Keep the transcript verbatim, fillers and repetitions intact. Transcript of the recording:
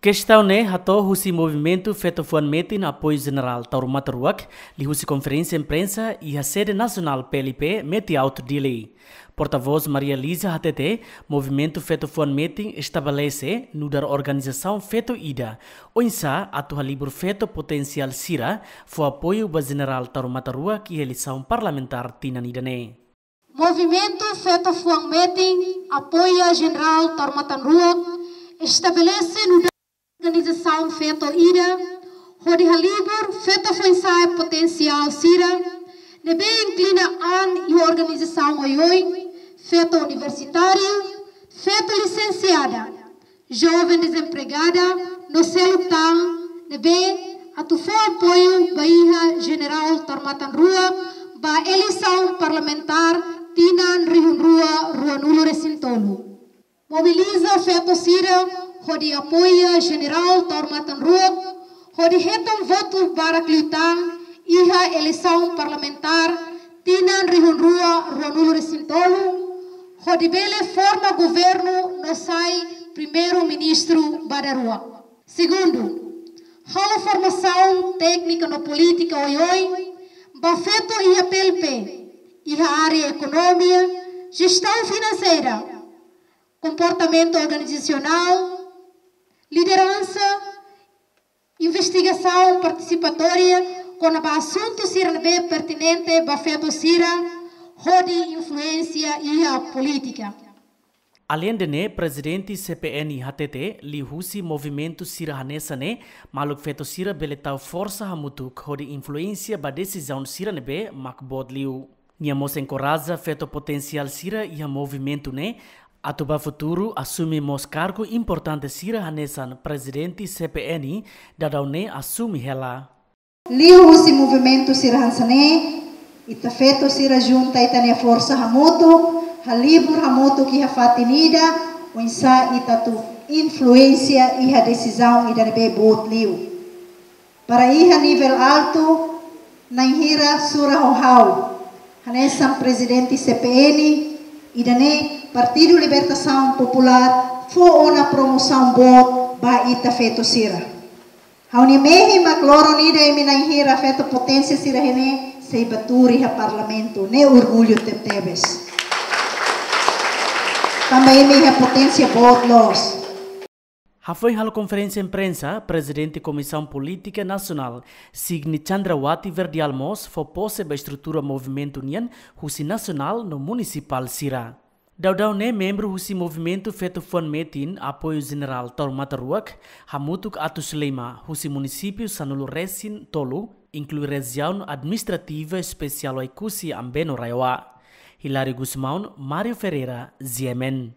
Kestaun ne'e hato'o husi Movimentu Feto Fuan Metin Apoiu Jenerál Taur Matan Ruak, liuhusi konferénsia imprensa iha sede nasionál P L P, Meti Alto, Dili. Portavós Maria Liza hatete, Movimentu Feto Fuan Metin estabelese nu'udar organizasaun feto ida, oinsá atu halibur feto potensiál sira fó apoiu ba Jenerál Taur Matan Ruak iha eleisaun parlamentár tinan ida-ne'e. Movimentu Feto Fuan Metin Apoiu Jenerál Taur Matan Ruak estabelese nu'udar organizasaun feto ida, hodi halibur feto foin-sa'e potensiál sira, ne'ebé inklui an iha organizasaun oioin, feto universitáriu, feto lisensiada, joven dezempregada, no seluk tan, ne'ebé atu fó apoiu ba iha Jenerál Taur Matan Ruak ba eleisaun parlamentár tinan rihun rua ruanulu-resin-tolu. Mobiliza feto sira hodi apoia Jenerál Taur Matan Ruak, hodi hetan votu barak liután iha eleisaun parlamentár tinan rihun rua ruanulu-resin-tolu, hodi bele forma governu no sai Primeiru-Ministru ba daruak. Segundu, halo formasaun téknika no polítika oioin ba feto iha P L P, iha área ekonomia, jestaun finanseira, komportamentu organizasionál, lideransa, investigasaun partisipatória kona-ba asuntu sira ne'ebé pertinente ba feto sira, hodi influénsia iha polítika. Aleinde ne'e, Prezidente C P N hatete, liuhusi movimentu sira hanesan ne'e, maluk feto sira bele tau forsa hamutuk hodi influénsia ba desizaun sira ne'ebé mak boot liu. Nia mós enkoraja feto potensiál sira iha movimentu ne'e atu ba futuru asume mós kargu importante sira hanesan Prezidente C P N daudaun ne'e asume hela. Liuhusi movimentu sira hanesan ne'e, ita feto sira junta ita-nia forsa hamutuk, halibur hamutuk iha fatin ida, oinsá ita atu influénsia iha desizaun ida ne'ebé boot liu. Para iha nivel altu, na'in hira sura ho ha'u, hanesan Prezidente C P N, ida-ne'e Partidu Libertasaun Populár fó ona promosaun boot ba ita feto sira. Ha'u-nia mehi mak loron ida imi na'in hira feto potensiál sira-ne'e sei bá tuur iha Parlamentu, ne'e orgullu tebetebes. Tanba imi iha poténsia boot loos. Hafoin halo konferénsia imprensa, Prezidente Komisaun Polítika Nasionál, Signi Chandrawati Verdial mós fó pose ba estrutura movimentu nian husi nasionál no munisipál sira. Daudaun ne'e membru husi Movimentu Feto Fuan Metin Apoiu Jenerál Taur Matan Ruak hamutuk atus lima husi munisípiu sanulu-resin-tolu, inklui Rejiaun Administrativa Espesiál Oekusi Ambeno Raeoa. Hilário Gusmão, Mário Ferreira, G M N.